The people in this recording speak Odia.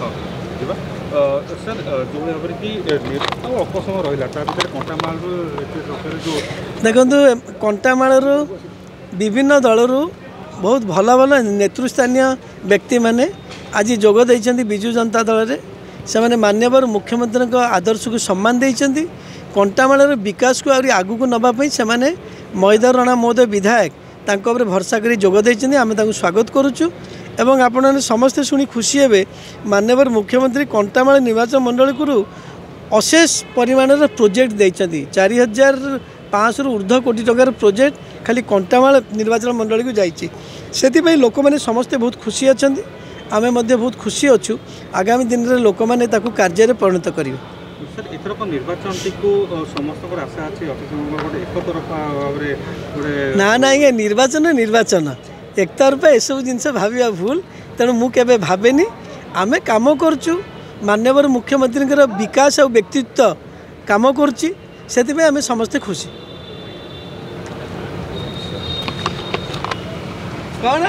ହଁ, ଯିବା ସାର୍। ଯେଉଁଭଳି ଭାବରେ କି ଆଉ ଅଳ୍ପ ସମୟ ରହିଲା, ତା ଭିତରେ କଣ୍ଟାମାଳରୁ ଏତେ ସଂଖ୍ୟାରେ ଯେଉଁ ଦେଖନ୍ତୁ, କଣ୍ଟାମାଳରୁ ବିଭିନ୍ନ ଦଳରୁ ବହୁତ ଭଲ ଭଲ ନେତୃସ୍ଥାନୀୟ ବ୍ୟକ୍ତିମାନେ ଆଜି ଯୋଗ ଦେଇଛନ୍ତି ବିଜୁ ଜନତା ଦଳରେ। ସେମାନେ ମାନ୍ୟବର ମୁଖ୍ୟମନ୍ତ୍ରୀଙ୍କ ଆଦର୍ଶକୁ ସମ୍ମାନ ଦେଇଛନ୍ତି। କଣ୍ଟାମାଳର ବିକାଶକୁ ଆହୁରି ଆଗକୁ ନେବା ପାଇଁ ସେମାନେ ମହିଧର ରଣା ମହୋଦୟ ବିଧାୟକ, ତାଙ୍କ ଉପରେ ଭରସା କରି ଯୋଗ ଦେଇଛନ୍ତି। ଆମେ ତାଙ୍କୁ ସ୍ୱାଗତ କରୁଛୁ ଏବଂ ଆପଣମାନେ ସମସ୍ତେ ଶୁଣି ଖୁସି ହେବେ, ମାନ୍ୟବର ମୁଖ୍ୟମନ୍ତ୍ରୀ କଣ୍ଟାମାଳ ନିର୍ବାଚନ ମଣ୍ଡଳୀକୁ ଅଶେଷ ପରିମାଣର ପ୍ରୋଜେକ୍ଟ ଦେଇଛନ୍ତି। 4500ରୁ ଉର୍ଦ୍ଧ୍ୱ କୋଟି ଟଙ୍କାର ପ୍ରୋଜେକ୍ଟ ଖାଲି କଣ୍ଟାମାଳ ନିର୍ବାଚନ ମଣ୍ଡଳୀକୁ ଯାଇଛି। ସେଥିପାଇଁ ଲୋକମାନେ ସମସ୍ତେ ବହୁତ ଖୁସି ଅଛନ୍ତି, ଆମେ ମଧ୍ୟ ବହୁତ ଖୁସି ଅଛୁ। ଆଗାମୀ ଦିନରେ ଲୋକମାନେ ତାକୁ କାର୍ଯ୍ୟରେ ପରିଣତ କରିବେ। ସାର୍, ଏଥରକ ନିର୍ବାଚନଟିକୁ ସମସ୍ତଙ୍କର ଆଶା ଅଛି ଗୋଟେ ଏକତରଫା ଭାବରେ ଗୋଟେ? ନା ନା ଆଜ୍ଞା, ନିର୍ବାଚନ ନିର୍ବାଚନ, ଏକତରଫା ଏସବୁ ଜିନିଷ ଭାବିବା ଭୁଲ। ତେଣୁ ମୁଁ କେବେ ଭାବେନି। ଆମେ କାମ କରୁଛୁ, ମାନ୍ୟବର ମୁଖ୍ୟମନ୍ତ୍ରୀଙ୍କର ବିକାଶ ଆଉ ବ୍ୟକ୍ତିତ୍ୱ କାମ କରୁଛି, ସେଥିପାଇଁ ଆମେ ସମସ୍ତେ ଖୁସି। କ'ଣ